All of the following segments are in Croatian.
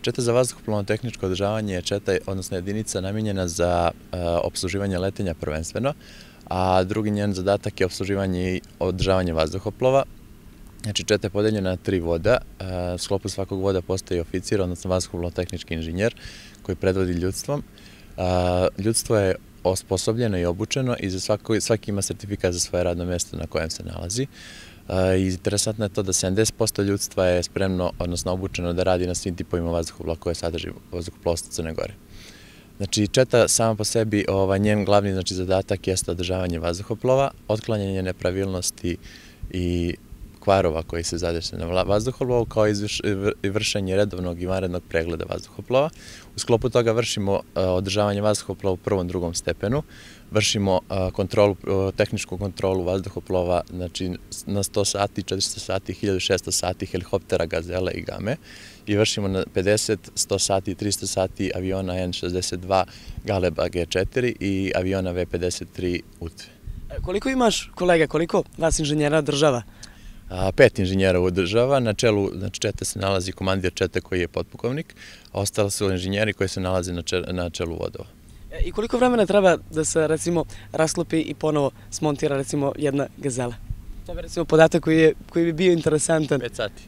Četa za vazduhoplovno tehničko održavanje je četa, odnosno jedinica namijenjena za opsluživanje letenja prvenstveno, a drugi njen zadatak je opsluživanje i održavanje vazduhoplova. Znači, četa je podeljena na 3 voda. U sklopu svakog voda postoji oficir, odnosno vazduhoplovno-tehnički inženjer koji predvodi ljudstvom. Ljudstvo je osposobljeno i obučeno i svaki ima sertifikat za svoje radno mjesto na kojem se nalazi. Interesantno je to da 70% ljudstva je spremno, odnosno obučeno da radi na svim tipovima vazduhoplova koje sadrži vazduhoplovstvo Crne Gore. Znači, četa sama po sebi, njen glavni zadatak jeste održavanje vazduhoplova, otklanjanje nepravilnosti i kvarova koji se zadese na vazduhoplovu, kao i vršenje redovnog i vanrednog pregleda vazduhoplova. U sklopu toga vršimo održavanje vazduhoplova u prvom, drugom stepenu, vršimo tehničku kontrolu vazduhoplova, znači na 100 sati, 400 sati, 1600 sati helikoptera Gazele i Game i vršimo na 50, 100 sati, 300 sati aviona N-62 Galeba G4 i aviona V-53 UTV. Koliko imaš kolega, koliko vas inženjera održava? 5 inženjera održava, na čelu čete se nalazi komandir čete koji je potpukovnik, a ostali su inženjeri koji se nalaze na čelu vodova. I koliko vremena treba da se, recimo, rasklopi i ponovo smontira, recimo, jedna Gazela? To je, recimo, podatak koji bi bio interesantan. 5 sati.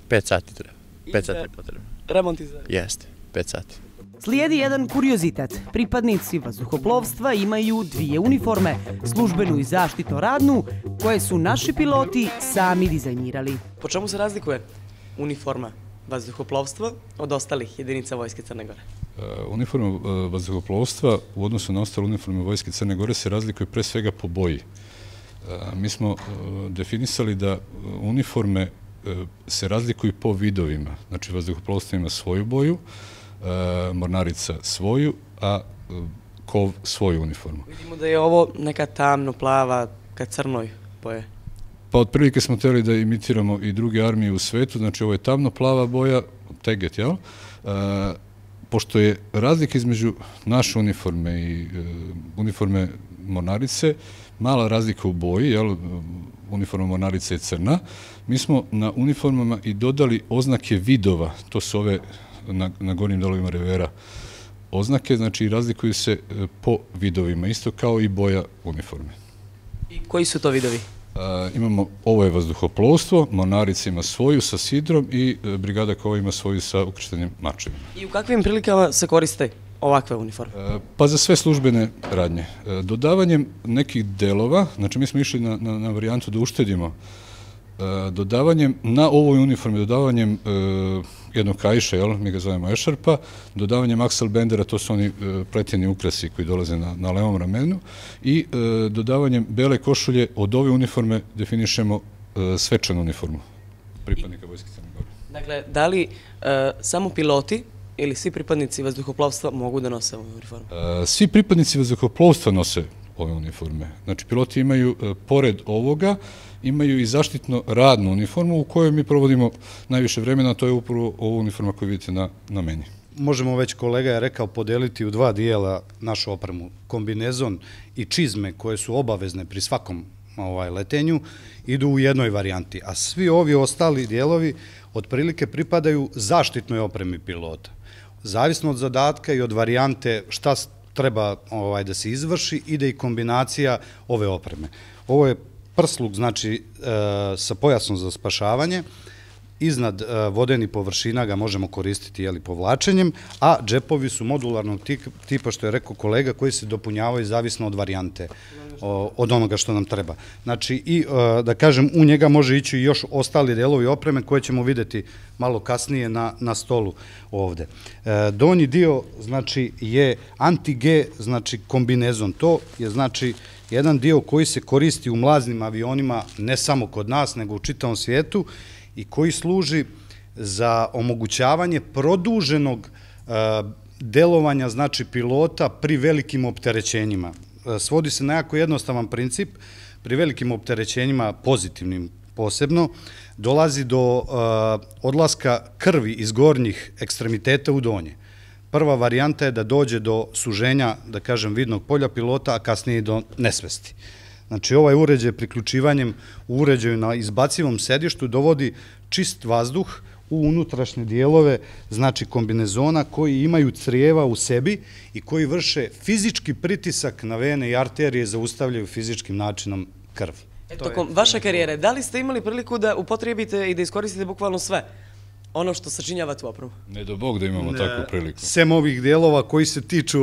5 sati treba. 5 sati je potrebno. Remont iza? Jeste, 5 sati. Slijedi jedan kuriozitet. Pripadnici vazduhoplovstva imaju 2 uniforme, službenu i zaštitno radnu, koje su naši piloti sami dizajnirali. Po čemu se razlikuje uniforma vazduhoplovstva od ostalih jedinica Vojske Crne Gore? Uniforma vazduhoplovstva u odnosu na ostale uniforme Vojske Crne Gore se razlikuje pre svega po boji. Mi smo definisali da uniforme se razlikuju po vidovima. Znači, vazduhoplovstvo ima svoju boju, mornarica svoju, a kov svoju uniformu. Vidimo da je ovo neka tamno plava ka crnoj boje. Pa otprilike smo htjeli da imitiramo i druge armije u svetu, znači ovo je tamno plava boja, teget, jel? Pošto je razlika između naše uniforme i uniforme mornarice, mala razlika u boji, jel? Uniforma mornarice je crna, mi smo na uniformama i dodali oznake vidova, to su ove na gornjim delovima revera oznake, znači razlikuju se po vidovima, isto kao i boja uniforme. I koji su to vidovi? Imamo, ovo je vazduhoplovstvo, mornarica ima svoju sa sidrom i brigada kova ima svoju sa ukrštenim mačevima. I u kakvim prilikama se koriste ovakve uniforme? Pa za sve službene radnje. Dodavanjem nekih delova, znači mi smo išli na varijantu da uštedimo, dodavanjem na ovoj uniformi, dodavanjem jednog kaiša, mi ga zovemo ešarpa, dodavanjem aksel bendera, to su oni pleteni ukrasi koji dolaze na levom ramenu, i dodavanjem bele košulje od ove uniforme definišemo svečanu uniformu pripadnika Vojske Crne Gore. Dakle, da li samo piloti ili svi pripadnici vazduhoplovstva mogu da nose ovu uniformu? Svi pripadnici vazduhoplovstva nose ove uniforme. Znači, piloti imaju, pored ovoga, imaju i zaštitno radnu uniformu u kojoj mi provodimo najviše vremena, a to je upravo ova uniforma koju vidite na meni. Možemo već, kolega je rekao, podeliti u 2 dijela našu opremu. Kombinezon i čizme koje su obavezne pri svakom letenju idu u jednoj varijanti, a svi ovi ostali dijelovi otprilike pripadaju zaštitnoj opremi pilota. Zavisno od zadatka i od varijante šta treba da se izvrši, ide i kombinacija ove opreme. Ovo je prsluk, znači sa pojasom za spašavanje, iznad vodenih površina ga možemo koristiti povlačenjem, a džepovi su modularnog tipa, što je rekao kolega, koji se dopunjavaju zavisno od varijante, od onoga što nam treba. Znači, i da kažem, u njega može ići još ostali delovi opreme koje ćemo videti malo kasnije na stolu ovde. Donji dio, znači, je anti-G, znači, kombinezon. To je, znači, jedan dio koji se koristi u mlaznim avionima, ne samo kod nas, nego u čitavom svijetu, i koji služi za omogućavanje produženog delovanja, znači, pilota pri velikim opterećenjima. Svodi se na jako jednostavan princip, pri velikim opterećenjima, pozitivnim posebno, dolazi do odlaska krvi iz gornjih ekstremiteta u donje. Prva varijanta je da dođe do suženja, da kažem, vidnog polja pilota, a kasnije i do nesvesti. Znači, ovaj uređaj priključivanjem u uređaju na izbacivom sedištu dovodi čist vazduh u unutrašnje dijelove, znači kombinezona, koji imaju crijeva u sebi i koji vrše fizički pritisak na vene i arterije, zaustavljaju fizičkim načinom krv. Tokom vaše karijere, da li ste imali priliku da upotrijebite i da iskoristite bukvalno sve ono što sačinjava tu opremu? Ne do Bog da imamo takvu priliku. Sem ovih dijelova koji se tiču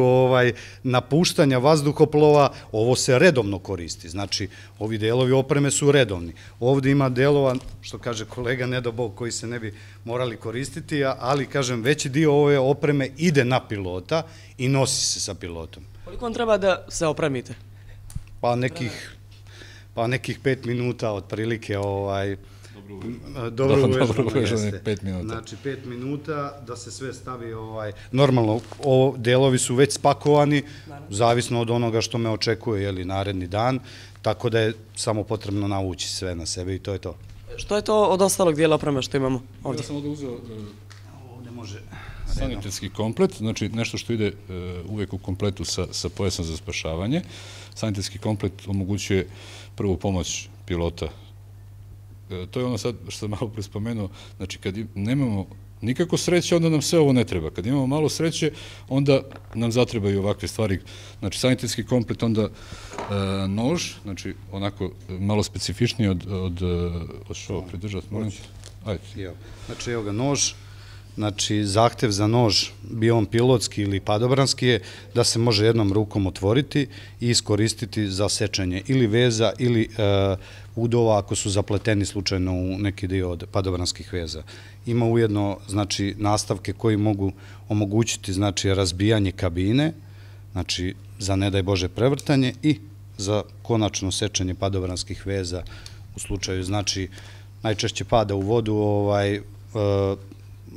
napuštanja vazduhoplova, ovo se redovno koristi. Znači, ovi dijelovi opreme su redovni. Ovdje ima dijelova, što kaže kolega, ne do Bog, koji se ne bi morali koristiti, ali, kažem, veći dio ove opreme ide na pilota i nosi se sa pilotom. Koliko vam treba da se opremite? Pa nekih 5 minuta, otprilike, dobro uvežano, 5 minuta. Znači 5 minuta da se sve stavi, normalno, delovi su već spakovani, zavisno od onoga što me očekuje, naredni dan, tako da je samo potrebno navući sve na sebe i to je to. Što je to od ostalog dijela opreme što imamo ovdje? Ja sam ovdje uzeo ovdje može sanitetski komplet, znači nešto što ide uvijek u kompletu sa pojasom za spašavanje. Sanitetski komplet omogućuje prvu pomoć pilota. To je ono sad što sam malo prespomenuo, znači kad nemamo nikako sreće, onda nam sve ovo ne treba. Kad imamo malo sreće, onda nam zatrebaju ovakve stvari. Znači sanitetski komplet, onda nož, znači onako malo specifičniji od što pridržati, molim? Ajde. Znači evo ga nož, znači zahtev za nož, bio on pilotski ili padobranski, je da se može jednom rukom otvoriti i iskoristiti za sečenje ili veza ili udova ako su zapleteni slučajno u neki dio od padobranskih veza. Ima ujedno, znači, nastavke koji mogu omogućiti, znači, razbijanje kabine, znači, za ne daj Bože prevrtanje i za konačno sečenje padobranskih veza u slučaju, znači, najčešće pada u vodu,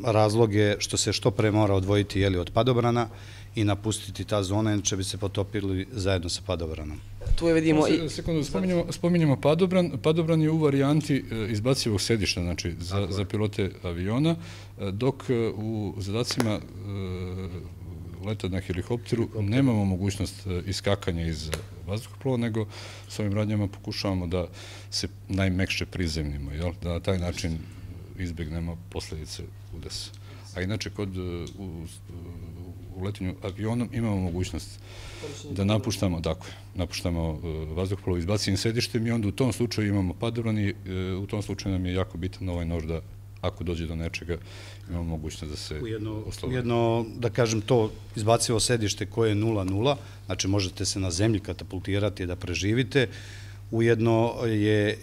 razlog je što se što pre mora odvojiti od padobrana i napustiti ta zona, inače bi se potopili zajedno sa padobranom. Tu je vidimo... Sekundu, spominjemo padobran. Padobran je u varijanti izbacivog sedišta, znači za pilote aviona, dok u zadacima leta na helikopteru nemamo mogućnost iskakanja iz vazduhoplova, nego s ovim radnjama pokušavamo da se najmekše prizemnimo, da na taj način izbjegnemo posljedice udesa. A inače, u letenju avionom imamo mogućnost da napuštamo vazduhoplov izbacinim sedištem i onda u tom slučaju imamo padobran i u tom slučaju nam je jako bitan ovaj nož da ako dođe do nečega imamo mogućnost da se oslobodi. Ujedno, da kažem, to izbacivo sedište koje je 0,0, znači možete se na zemlji katapultirati da preživite, ujedno je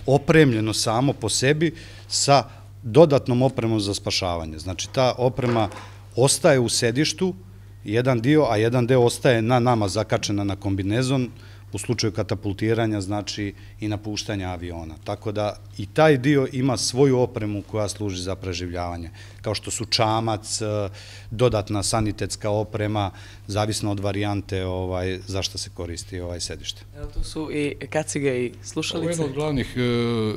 opremljeno samo po sebi sa dodatnom opremom za spašavanje. Znači, ta oprema ostaje u sedištu, jedan dio, a jedan deo ostaje na nama zakačena na kombinezon, u slučaju katapultiranja, znači i napuštanja aviona. Tako da i taj dio ima svoju opremu koja služi za preživljavanje, kao što su čamac, dodatna sanitetska oprema, zavisno od varijante za što se koristi sedište. Evo tu su i kacige i slušalice.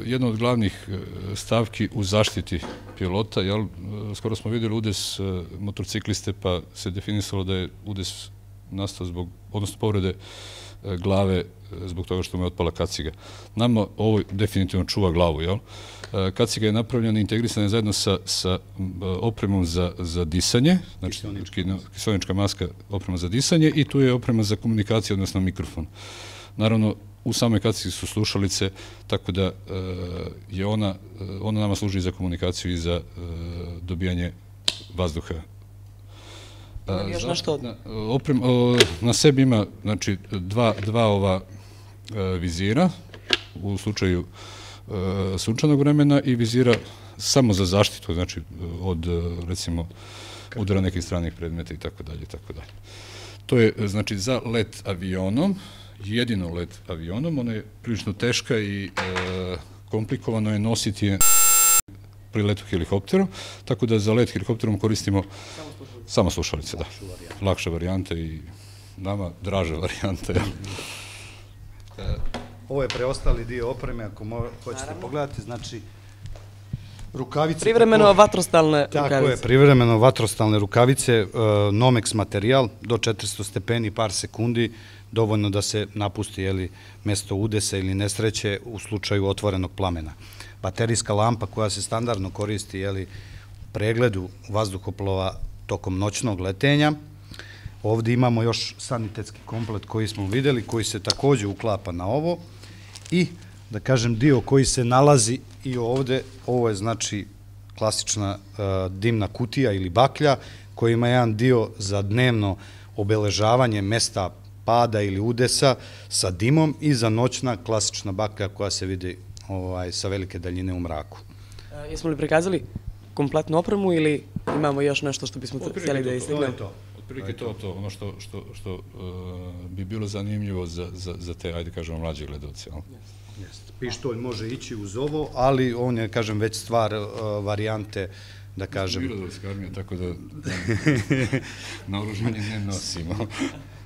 Jedna od glavnih stavki u zaštiti pilota, skoro smo vidjeli udes motorcikliste, pa se definisalo da je udes nastao odnosno povrede glave zbog toga što mu je otpala kaciga. Nama ovo definitivno čuva glavu, Kaciga je napravljena i integrisana zajedno sa opremom za disanje, znači kiseonička maska, oprema za disanje i tu je oprema za komunikaciju, odnosno mikrofon. Naravno, u samoj kacigi su slušalice, tako da je ona nama služi za komunikaciju i za dobijanje vazduha. Na sebi ima dva ova vizira u slučaju sunčanog vremena i vizira samo za zaštitu, znači od, recimo, udara nekih stranih predmeta i tako dalje. To je, znači, za let avionom, jedino let avionom, ona je prilično teška i komplikovano je nositi je pri letu helikopterom, tako da za let helikopterom koristimo samo slušalice, da. Lakša varijanta i nama draža varijanta. Ovo je preostali dio opreme, ako hoćete pogledati, znači rukavice... Privremeno vatrostalne rukavice. Tako je, privremeno vatrostalne rukavice, Nomex materijal, do 400 stepeni, par sekundi, dovoljno da se napusti mjesto udesa ili nesreće u slučaju otvorenog plamena. baterijska lampa koja se standardno koristi u pregledu vazduhoplova tokom noćnog letenja. Ovdje imamo još sanitetski komplet koji smo vidjeli, koji se također uklapa na ovo i, da kažem, dio koji se nalazi i ovdje, ovo je znači klasična dimna kutija ili baklja koji ima jedan dio za dnevno obeležavanje mesta pada ili udesa sa dimom i za noćna klasična baklja koja se vidi sa velike daljine u mraku. Jesmo li prikazali kompletnu opremu ili imamo još nešto što bismo htjeli da istignemo? Otprilike to, ono što bi bilo zanimljivo za te, ajde kažemo, mlađe gledalce. Pištolj može ići uz ovo, ali on je, kažem, već stvar varijante, da kažem... Mirnodolska armija, tako da naoružanje ne nosimo.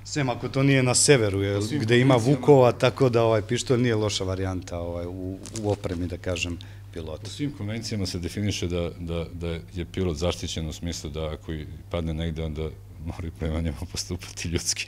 Sem ako to nije na severu, gde ima vukova, tako da pištolj nije loša varijanta u opremi, da kažem, pilota. U svim konvencijama se definiše da je pilot zaštićen u smislu da ako padne negde, onda mora prema njemu postupati ljudski.